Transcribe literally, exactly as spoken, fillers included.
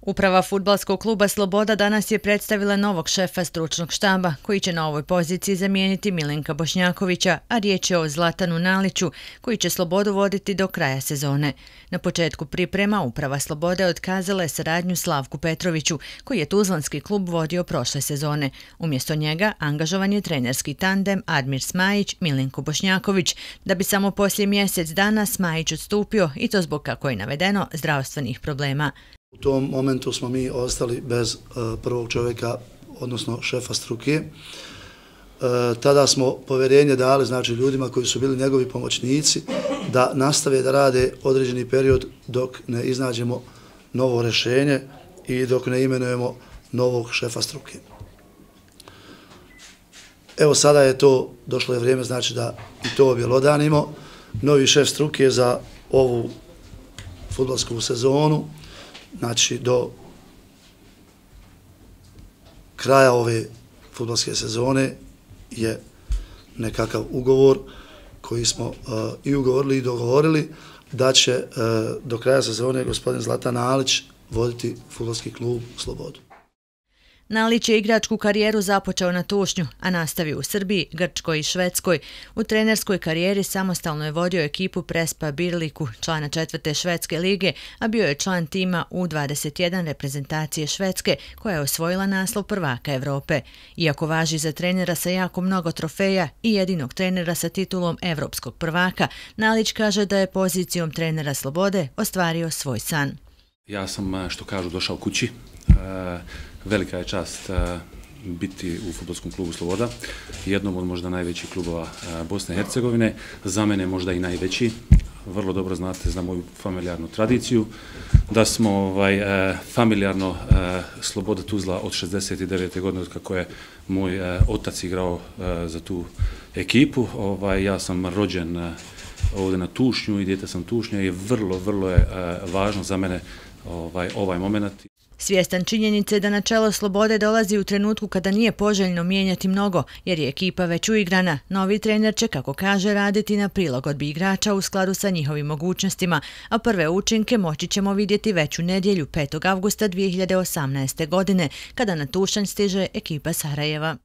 Uprava fudbalskog kluba Sloboda danas je predstavila novog šefa stručnog štaba, koji će na ovoj poziciji zamijeniti Milenka Bošnjakovića, a riječ je o Zlatanu Naliću, koji će Slobodu voditi do kraja sezone. Na početku priprema Uprava Slobode otkazala je saradnju Slavku Petroviću, koji je tuzlanski klub vodio prošle sezone. Umjesto njega angažovan je trenerski tandem Admir Smajić-Milenko Bošnjaković, da bi samo poslije mjesec dana Smajić odstupio, i to zbog, kako je navedeno, zdravstvenih problema. U tom momentu smo mi ostali bez uh, prvog čovjeka, odnosno šefa struke. Uh, tada smo povjerenje dali, znači, ljudima koji su bili njegovi pomoćnici da nastave da rade određeni period dok ne iznađemo novo rješenje i dok ne imenujemo novog šefa struke. Evo sada je to, došlo je vrijeme, znači, da i to objelodanimo. Novi šef struke za ovu fudbalsku sezonu, znači do kraja ove fudbalske sezone, je nekakav ugovor koji smo uh, i ugovorili i dogovorili da će uh, do kraja sezone gospodin Zlatan Nalić voditi fudbalski klub Slobodu. Nalić je igračku karijeru započeo na Tušnju, a nastavio u Srbiji, Grčkoj i Švedskoj. U trenerskoj karijeri samostalno je vodio ekipu Prespa Birliku, člana četvrte švedske lige, a bio je član tima U dvadeset jedan reprezentacije Švedske, koja je osvojila naslov prvaka Evrope. Iako važi za trenera sa jako mnogo trofeja i jedinog trenera sa titulom evropskog prvaka, Nalić kaže da je pozicijom trenera Slobode ostvario svoj san. Ja sam, što kažu, došao kući. Velika je čast biti u fudbalskom klubu Sloboda, jednom od možda najvećih klubova Bosne i Hercegovine, za mene možda i najveći. Vrlo dobro znate za moju familijarnu tradiciju, da smo ovaj, familijarno Sloboda Tuzla od šezdeset devete godine, od kako je moj otac igrao za tu ekipu. Ovaj, ja sam rođen ovdje na Tušnju i dijete sam Tušnja i vrlo, vrlo je važno za mene ovaj, ovaj moment. Svjestan činjenice da na čelo Slobode dolazi u trenutku kada nije poželjno mijenjati mnogo, jer je ekipa već uigrana, novi trener će, kako kaže, raditi na prilagodbi igrača u skladu sa njihovim mogućnostima, a prve učinke moći ćemo vidjeti već u nedjelju petog avgusta dvije hiljade osamnaeste. godine, kada na Tušanj stiže ekipa Sarajeva.